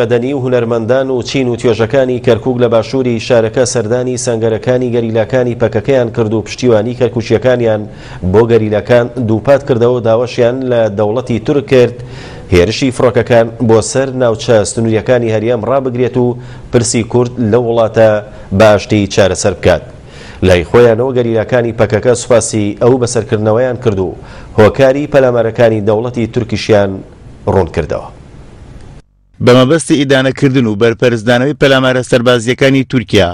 مەدەنی و هونەرمەندان و چین و توێژەکانی کەرکوک لە باشووری شارەکە سەردانی سەنگەرەکانی گەریلاکانی پەکەکەیان کرد و پشتیوانی کەرکوکییەکانیان بۆ گەریلاکان دووپات کردەوە و داواشیان لە دەوڵەتی تورک کرد هێرشی فڕۆکەکان بۆ سەر ناوچە سنوورییەکانی هەرێم ڕابگرێت و پرسی کورد لەو وڵاتە بە ئاشتی چارەسەر بکات. لای خۆیانەوە گەریلاکانی پەکەکە سوپاسی ئەو بەسەرکردنەوەیان کرد و هۆکاری پەلامارەکانی دەوڵەتی تورکیشیان ڕوون کردەوە. بە مەبەستی ئیدانەکردن و بەرپەرچدانەوەی پەلامارە سەربازییەکانی تورکیا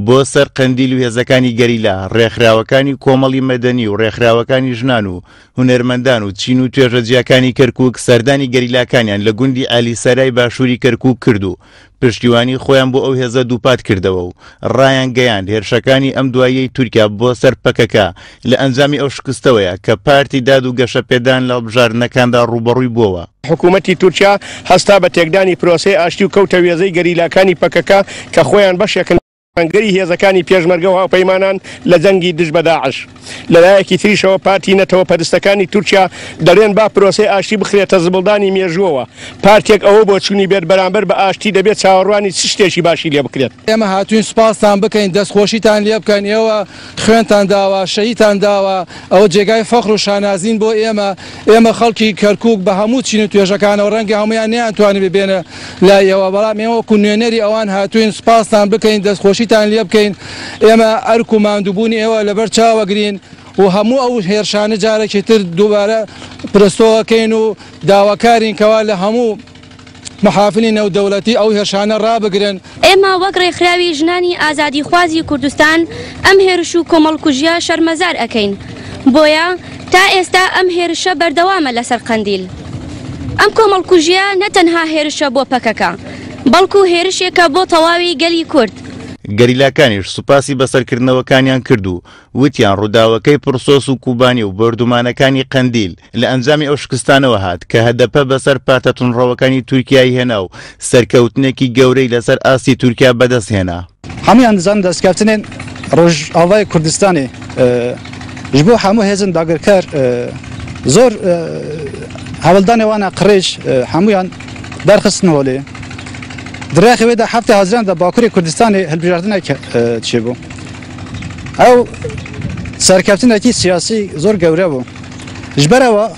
بۆ سەر قەندیل و هێزەکانی گەریلا، ڕێکخراوەکانی کۆمەڵی مەدەنی و ڕێکخراوەکانی ژنان و هونەرمەندان و چین و توێژە جیاکانی کەرکوک سەردانی گەریلاکانیان لە گوندی ئالیسەرای باشووری کەرکوک کرد و پشتیوانی خۆیان بۆ ئەو هێزە دووپات کردەوە و ڕایانگەیاند هێرشەکانی ئەم دواییەی تورکیا بۆ سەر پەکەکە لە ئەنجامی ئەو شکستەوەیە کە پارتی داد و گەشەپێدان لە هەڵبژاردنەکاندا ڕووبەڕووی بووەوە. حکوومەتی تورکیا هەستا بە تێکدانی پرۆسەی ئاشتی و کەوتە وێزەی گەریلاکانی پەکەکە کە خۆیان بەشێکن لە سەنگەری هێزەکانی پێشمەرگە و هاوپەیمانان لە جەنگی دژ بە داعش. لەلایەکی تریشەوە پارتی نەتەوە پەرستەکانی تورکیا دەڵێن با پرۆسەی ئاشتی بخرێتە زبڵدانی مێژووەوە. پارتێک ئەوە بۆچوونی بێت بەرامبەر بە ئاشتی دەبێت چاوەڕوانی چ شتێکی باشی لێ بکرێت؟ ئێمە هاتووین سوپاستان بکەین، دەستخۆشیتان لێ بکەن، ئێوە خوێنتان داوە، شەهیدتان داوە، ئەوە جێگای فەخر و شانازین بۆ ئێمە، ئێمە خەڵکی کەرکووک بە هەموو چین و توێژەکانەوە ڕەنگە هەموویان نەیانتوانیبێ بێنە لای ئێوە، بەڵام ئێمە وەکو نوێنەری ئەوان هاتووین سوپاستان بکەین، دەستخۆشیتان لێ بکەین، ئێمە ئەرک و ماندووبوونی ئێوە لەبەر چاوەگرین و هەموو ئەو هێرشانە جارێکی تر دووبارە پرستۆ ئەکەین و داواکارین کەوا لە هەموو مەحافلی نێودەولەتی ئەو هێرشانە ڕابگرن. ئێمە وەک ڕێکخراوی ژنانی ئازادیخوازی کوردستان ئەم هێرش و کۆمەڵکوژیە شەرمەزار ئەکەین بۆیە تا ئێستا ئەم هێرشە بەردەوامە لەسەر قەندیل. ئەم کۆمەڵکوژیە نە تەنها هێرشە بۆ پەکەکە بەڵکو هێرشێکە بۆ تەواوی گەلی کورد. گەریلاکانیش سوپاسی بەسەرکردنەوەکانیان کرد و وتیان ڕووداوەکەی پرسۆس و کوبانی و بۆردومانەکانی قەندیل لە ئەنجامی ئەو شکستانەوە هات کە هەدەپە بەسەر پارتە توندڕەوەکانی تورکیای هێنا و سەرکەوتنێکی گەورەی لەسەر ئاستی تورکیا بەدەست هێنا. هەموویان دەزانن دەستکەفتنێن ڕۆژئاڤای کوردستانێ ji bo hemû hêzên dagirker zor hewldanê wan a qirêj hemûyan derxistin holê. Di rexê wê de heftê Haziran de Bakurê Kurdistanê hilbijartinek çêbû. Ew serkeftinekî siyasî zor gewre bû. Ji ber ewa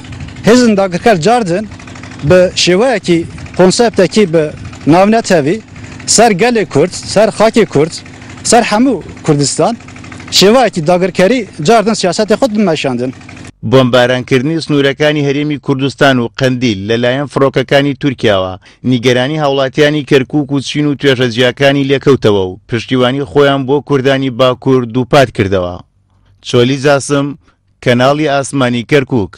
hêzên dagirker cardin bi şêweyekî konseptekî bi navnetevî ser gelê Kurd, ser xakê Kurd, ser hemû Kurdistan şêweyekî dagirkerî cardin siyasetê xwe dimeşandin. بۆمبارانکردنی سنوورەکانی هەرێمی کوردستان و قەندیل لەلایەن فڕۆکەکانی تورکیاوە نیگەرانی هاوڵاتیانی کەرکوک و چین و توێژە جیاکانی لێکەوتەوە و پشتیوانی خۆیان بۆ کوردانی باکوور دووپات کردەوە. چۆلی جاسم، کەناڵی ئاسمانی کەرکوک.